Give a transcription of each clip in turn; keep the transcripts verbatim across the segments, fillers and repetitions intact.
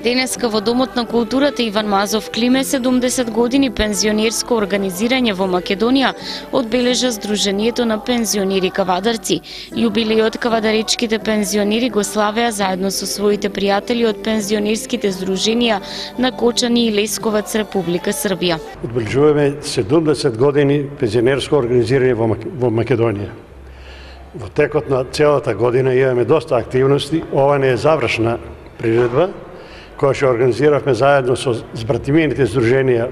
Денеска во Домот на културата Иван Мазов Климе седумдесет години пензионерско организирање во Македонија одбележа Сдруженијето на пензионери кавадарци. Јубилејот кавадаречките пензионери го славеа заедно со своите пријатели од пензионерските здруженија на Кочани и Лесковац, Република Србија. Одбележуваме седумдесет години пензионерско организирање во Македонија. Во текот на целата година имаме доста активности. Ова не е завршна приредба, која што организиравме заедно со збратимените здруженија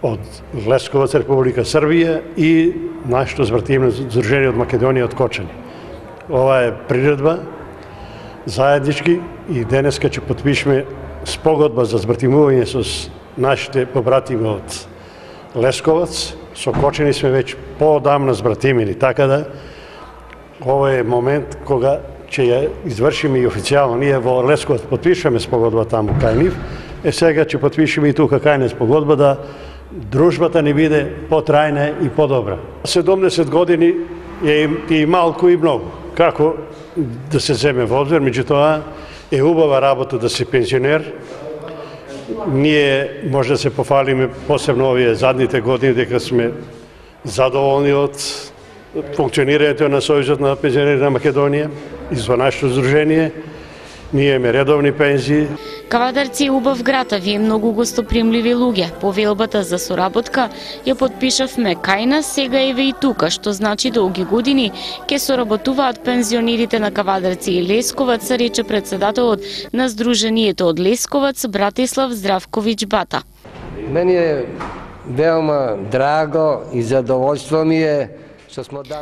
од Лесковац, Република Србија и нашето збратимено здружение од Македонија од Кочани. Ова е приредба заеднички и денеска ќе потпишеме спогодба за збратимување со нашите побратими од Лесковац. Со Кочани сме веќе поодамна збратимени, така да ова е момент кога ќе ја извршиме и официјално. Ние во Лесковац потпишеме спогодба таму кај нив, е сега ќе потпишеме и тука кај нас спогодба да дружбата ни биде потрајна и подобра. седумдесет години е и малку и многу. Како да се земе во обзир, меѓутоа е убава работа да си пензионер. Ние може да се пофалиме посебно овие задните години дека сме задоволни од функционирањето на Сојузот на пензионери на Македонија и за нашето здружение. Ние имаме редовни пензии. Кавадарци е убав град, а вие многу гостопримливи луѓе. Повелбата за соработка ја потпишавме кај нас, сега еве и тука, што значи долги години ќе соработуваат пензионерите на Кавадарци и Лесковац, рече председателот на Сдруженијето од Лесковац Братислав Здравковиќ Бата. Мене е веома драго и задоволство ми е.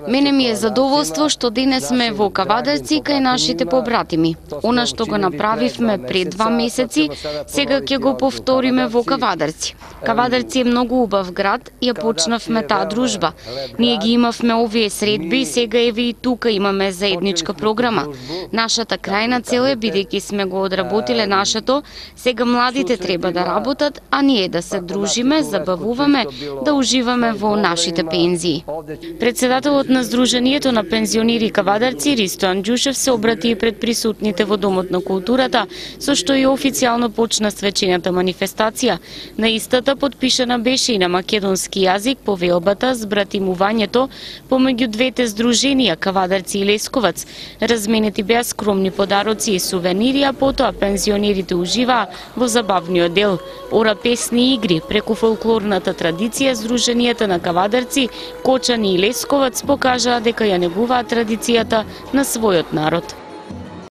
Мене ми е задоволство што денес сме во Кавадарци кај нашите побратими. Она што го направивме пред два месеци, сега ќе го повториме во Кавадарци. Кавадарци е многу убав град, ја почнавме таа дружба. Ние ги имавме овие средби и сега еве и тука имаме заедничка програма. Нашата крајна цел е, бидејќи сме го одработиле нашето, сега младите треба да работат, а ние да се дружиме, забавуваме, да уживаме во нашите пензии. Председателот на Сдруженијето на пензионери Кавадарци Ристо Анџушев се обрати и пред присутните во Домот на културата, со што и официјално почна свечената манифестација. На истата потпишана беше и на македонски јазик повелбата збратимувањето помеѓу двете здруженија Кавадарци и Лесковац. Разменети беа скромни подароци и сувенири, а потоа пензионерите уживаа во забавниот дел. Ора песни и игри преку фолклорната традиција Сдруженијата на Кавадарци, Кочани и Лесковац покажаа дека ја негуваат традицијата на својот народ.